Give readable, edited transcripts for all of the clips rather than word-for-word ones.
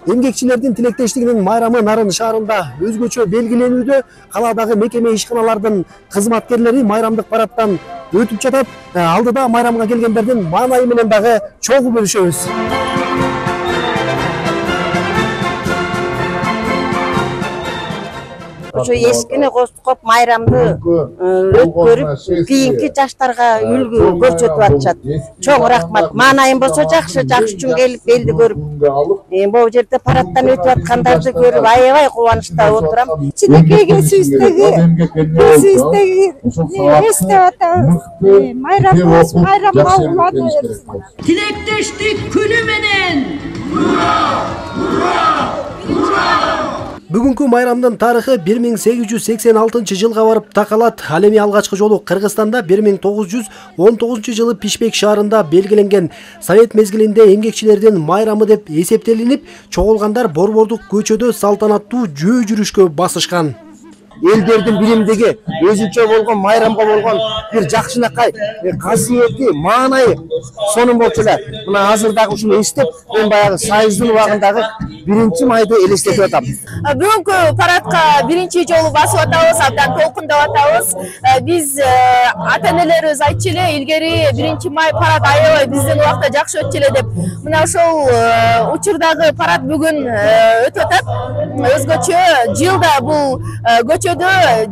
Эмгекчилердин тилектештигинин майрамы Нарын шаарында өзгөчө белгиленүүдө. Каладагы мекеме ишканалардын кызматкерлери майрамдык парадтан өтүп жатат. Алдыда майрамга келгендердин маанайы менен дагы чогуу бөлүшөбүз. Ошо эскини коступ майрамды өткөрүп, кийинки жаштарга үлгү көрсөтүп атышат. Чоң рахмат. Маанайым болсо жакшы үчүн келип элди көрүп, могу жерде парадтан өтүп аткандарды көрүп аябай кубанычта отурам. Чинекейге сүйүстөгү эстеп атабыз. Майрамыбыз майрамга улана берсин. Тилектештик күнү менен! Ура! Ура! Ура! Бүгүнкү майрамдын тарыхы 1886 жылга барып такалат. Ал эми алгачкы жолу Кыргызстанда 1919 жылы Пишпек шаарында белгиленген. Совет мезгилинде эмгекчилердин майрамы деп эсептелинип, чогулгандар борбордук көчөдө салтанаттуу жөө жүрүшкө басышкан. Элдердин биримдиги, өзүнчө болгон майрамга болгон бир жакшынакай касиети, маанайы сонун болчу эле. Мына азыр дагы ушуну эстеп, мен баягы сайыздын убагындагы 1-майды элестетип атам. Бүгүнкү парадка биринчи жолу басып атабыз, абдан толкундап атабыз. Биз ата-энелерибиз айтчу эле, илгери 1-май парад аябай биздин убакта жакшы өтчү эле деп. Мына ошол учурдагы парад бүгүн өтүп атат. Өзгөчө жылда бул көчөдө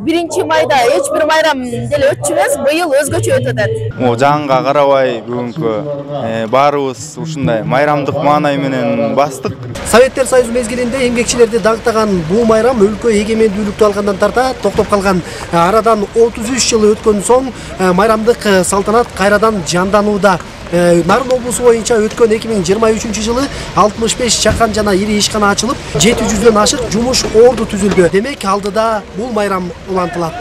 1-майда эч бир майрам деле өтчү эмес, быйыл өзгөчө өтүп атат. Жанга карабай бүгүнкү баарыбыз ушундай майрамдык маанай менен бастык. Советтер Союзу мезгилинде эмгекчилерди даңктаган бул майрам өлкө эгемендүүлүктү алгандан тарта токтоп калган. Арадан 33 жыл өткөн соң майрамдык салтанат кайрадан жанданууда. Нарын облусу боюнча өткөн 2023 жылы 65 чакан жана ири ишкана ачылып, 700дөн ашык жумуш орду түзүлдү. Демек алдыда бул майрам улантылат.